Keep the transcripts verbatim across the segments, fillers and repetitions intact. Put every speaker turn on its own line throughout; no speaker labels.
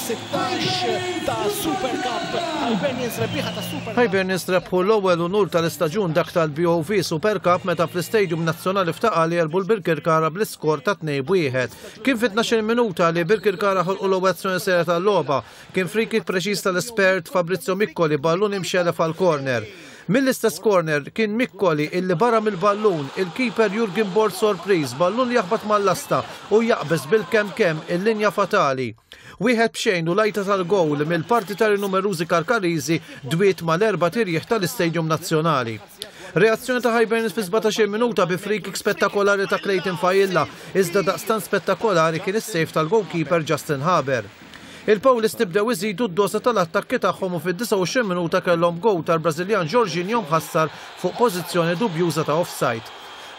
sittax ta' Super Cup. Hibernians rebbieħa ta' Super Cup.
Hibernians rebħu l-ewwel unur tal-istaġun, dak tal-B O V Super Cup, meta fl-Istadium Nazzjonali f'Ta' Qali għelbu l-Birkirkara bl-iskor ta' tnejn wieħed. Kien fit-tnax-il minuta li Birkirkara ħolqu l-ewwel azzjoni serja tal-logħba. Kien free kick preċiż tal-espert Fabrizio Miccoli, ballun imxellef għal corner. Mill-istess corner kien Miccoli illi barra mill-ballun, il-keeper Jurgen Bord sorpriż, ballun jaħbat mal-lasta u jaqbeż bil-kemm kemm il-linja fatali. Wieħed b'xejn u l-għajta tal-gowl mill-partitari numerużi Karkariżi dwiet mal-erbat irjieħ tal-Istadium Nazzjonali. Reazzjoni ta' Hibernians fi sbatax-il minuta bi free kick spettakolari ta' Clayton Failla, iżda daqstan spettakolari kien is-save tal-goalkeeper Justin Haber. Il-Pawlisti bdew iżidu d-dosa tal-attakki tagħhom u fid-disgħa u għoxrin minuta kellhom gowl tal-Brażiljan Jorginho mħassar fuq pożizzjoni dubjuża ta' offside.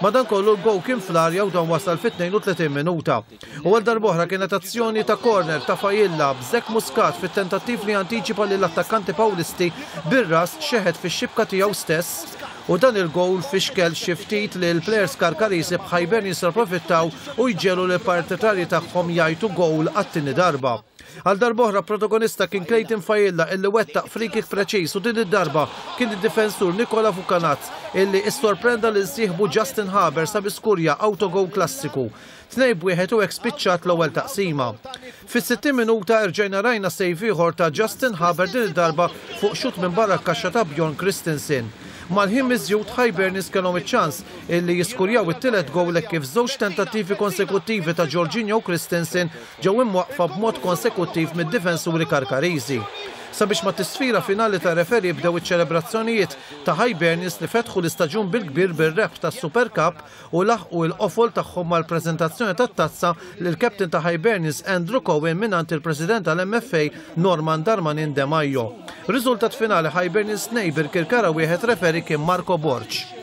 Madankollu l-gowl kien fl-arja u dan wasal fit-tnejn u tletin minuta. U għal darb'oħra kienet azzjoni ta' corner ta' Failla, b'Zek Muscat fit-tentattiv li antiċipa lill-attakkanti Pawlisti bir-ras xeħet fix-xibka tiegħu stess u dan il-gowl fixkel xi ftit li l-plejers Karkarisi, b'Hibernians approfittaw u jġegħlu l-partitarji tagħhom jgħajtu gowl għat-tieni darba. Għal darb'oħra protagonista kien Clayton Failla illi wettaq free kick preċiż u din id-darba kien id-difensur Nikola Vukanaz illi issorprenda lil sieħbu Justin Haber sabiex skurja autogoal klassiku. Tnejn b'wieħed u hekk spiċċat l-ewwel taqsima. Fis-sittin minuta rġajna rajna save ieħor ta' Justin Haber, din id-darba fuq xut minn barra kaxxa ta' Bjorn Christensen. Mal-ħin miżjud Hibernians kellhom iċ-ċans illi jiskurjaw it-tielet gowl kif żewġ tentattivi konsekuttivi ta' Jorginho u Christensen ġew imwaqfa b'mod konsekuttiv mid-difensuri Karkariżi. Sabiex mat-tisfira finali tar-referee bdew iċ-ċelebrazzjonijiet ta' Hibernians li fetħu l-istaġun bil-kbir bir-rebħ tas Super Cup u laħqu il-qofol tagħhom mal-preżentazzjoni tat-tazza lil captain ta' Hibernians Andrew Cohen mingħand il-President tal-M F A Norman Darmanin De Maio. Riżultat finali: Hibernians tnejn, Birkirkara wieħed, referee kien Marco Borg.